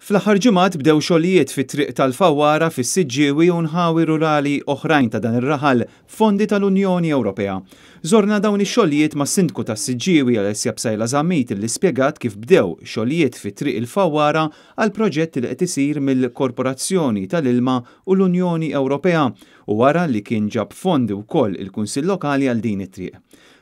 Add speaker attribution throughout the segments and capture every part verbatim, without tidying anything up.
Speaker 1: Fl-aħħar ġimgħat bdew xogħlijiet fit-triq tal-Fawwara fis-Siġġiewi u nħawi rurali oħrajn ta' dan ir-raħal fondi tal-Unjoni Ewropea. Żorna dawn ix-xogħlijiet mas-Sindku tas-Siġġiewi Alessia Psaila Zammit li spjegat kif bdew xogħlijiet fit-triq il-Fawwara għal proġett li qed isir mill-Korporazzjoni tal-Ilma u l-Unjoni Ewropea u wara li kien ġab fondi wkoll il-Kunsill Lokali għal din it-triq.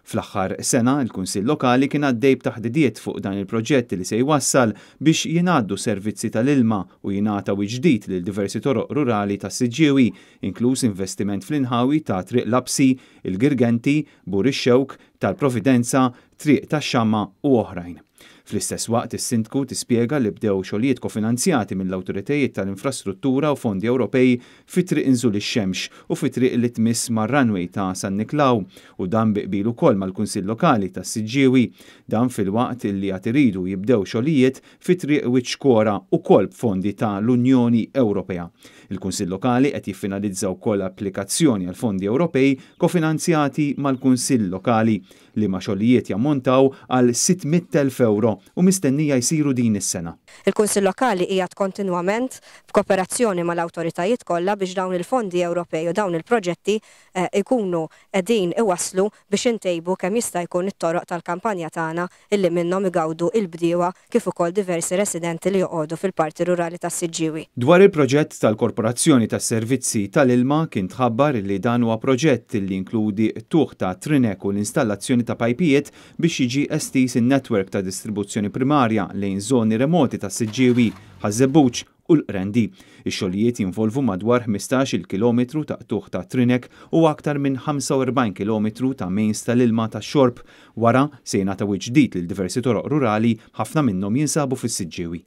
Speaker 1: Fl-aħħar sena, il-Kunsill Lokali kien għaddej b'taħdidiet fuq dan il-proġett li se jwassal biex jingħaddu servizzi tal-ilma u jingħata ġdid lil diversi toroq rurali tas-Siġġiewi, inkluż investiment fl-inħawi ta' Triq Lapsi, il-Girgenti, Bur ix-Xewk, tal-Providenza, Triq tax-Xamma u oħrajn. Fl-istess waqt is-Sindku tispjega li bdew xogħlijiet kofinanzjati mill-awtoritajiet tal-infrastruttura u fondi Ewropej fi triq Inżul ix-Xemx u fi triq li tmiss mar-runway ta' San Niklaw u dan bi qbil ukoll mal-Kunsill Lokali tas-Siġġiewi. Dan filwaqt li għad iridu jibdew xogħlijiet fi triq Wiċċ ukoll b'fondi ta' l-Unjoni Ewropea. Il-Kunsill Lokali qed jiffinalizza wkoll applikazzjoni għal fondi Ewropej kofinanzjati mal-Kunsill Lokali li ma xogħlijiet jammontaw għal sitt mitt elf euro u mistennija jsiru din is-sena.
Speaker 2: Il-Kunsill Lokali qiegħed kontinwament f'kooperazzjoni mal-awtoritajiet kollha biex dawn il-fondi Ewropej u dawn il-proġetti, eh, ikunu qegħdin iwasslu biex intejbu kemm jista' jkun it-toroq tal-kampanja tagħna illi minnhom igawdu il-bdiewa kif ukoll diversi residenti li joqogħdu fil-parti rurali tas-Siġġiewi.
Speaker 1: Dwar il-proġett tal-Korporazzjoni tas-Servizzi tal-Ilma kien tħabbar li dan huwa proġett li jinkludi tuħ ta' trinek u l-installazzjoni ta' pajpijiet biex jiġi estiż in-netwerk ta' distribuzzjoni primarja lejn żoni remoti tas-Siġġiewi, Ħaż-Żebbuġ u l-Qrendi. Ix-xogħlijiet jinvolvu madwar ħmistax-il kilometru ta' qtugħ ta' trinek u aktar minn ħamsa u erbgħin kilometru ta' mains tal-ilma tax-xorb. Wara se jingħata wiċċ ġdid lil diversi toroq rurali, ħafna minnhom jinsabu fis-Siġġiewi.